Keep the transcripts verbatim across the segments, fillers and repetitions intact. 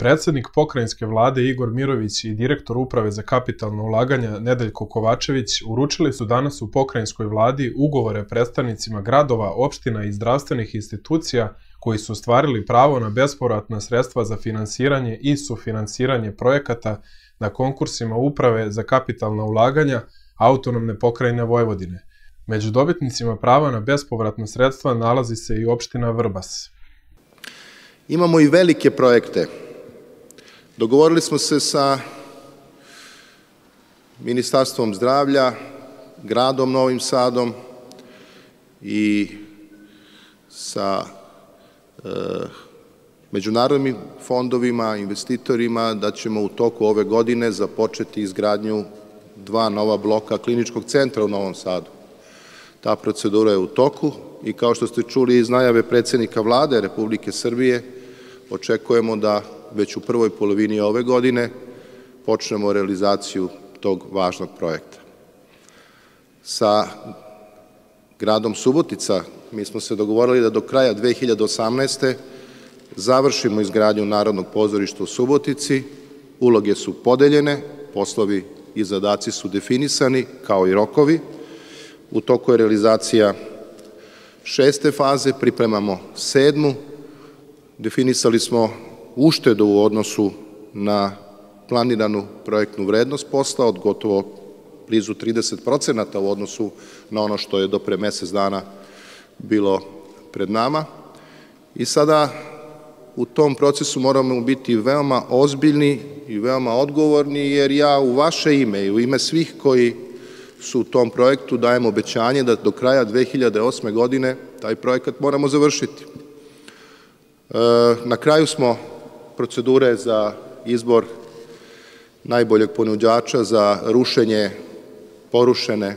Predsednik pokrajinske vlade Igor Mirović i direktor Uprave za kapitalna ulaganja Nedeljko Kovačević uručili su danas u pokrajinskoj vladi ugovore predstavnicima gradova, opština i zdravstvenih institucija koji su ostvarili pravo na bespovratna sredstva za finansiranje i sufinansiranje projekata na konkursima Uprave za kapitalna ulaganja Autonomne pokrajine Vojvodine. Među dobitnicima prava na bespovratna sredstva nalazi se i opština Vrbas. Imamo i velike projekte. Dogovorili smo se sa Ministarstvom zdravlja, gradom Novim Sadom i sa e, međunarodnim fondovima, investitorima da ćemo u toku ove godine započeti izgradnju dva nova bloka kliničkog centra u Novom Sadu. Ta procedura je u toku i kao što ste čuli iz najave predsednika vlade Republike Srbije, očekujemo da već u prvoj polovini ove godine počnemo realizaciju tog važnog projekta. Sa gradom Subotica mi smo se dogovorili da do kraja dve hiljade osamnaeste. završimo izgradnju Narodnog pozorišta u Subotici, uloge su podeljene, poslovi i zadaci su definisani kao i rokovi. U toku je realizacija šeste faze, pripremamo sedmu, definisali smo uštedu u odnosu na planiranu projektnu vrednost posla od gotovo blizu trideset procenata u odnosu na ono što je do pre mesec dana bilo pred nama. I sada u tom procesu moramo biti veoma ozbiljni i veoma odgovorni, jer ja u vaše ime i u ime svih koji su u tom projektu dajem obećanje da do kraja dve hiljade osme. godine taj projekat moramo završiti. Na kraju smo procedure za izbor najboljeg ponuđača za rušenje porušene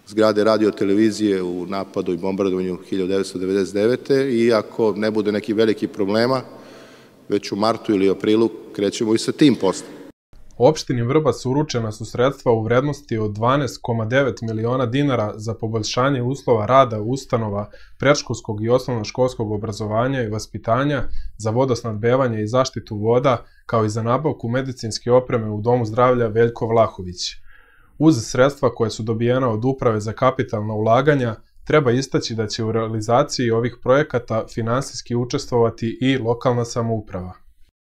zgrade radio-televizije u napadu i bombardovanju hiljadu devetsto devedeset devete. i ako ne bude nekih velikih problema, već u martu ili aprilu krećemo i sa tim poslom. Opštini Vrbas uručena su sredstva u vrednosti od dvanaest zarez devet miliona dinara za poboljšanje uslova rada ustanova predškolskog i osnovnoškolskog obrazovanja i vaspitanja, za vodosnabdevanje i zaštitu voda, kao i za nabavku medicinske opreme u Domu zdravlja Veljko Vlahović. Uz sredstva koje su dobijena od Uprave za kapitalna ulaganja, treba istaći da će u realizaciji ovih projekata finansijski učestvovati i lokalna samouprava.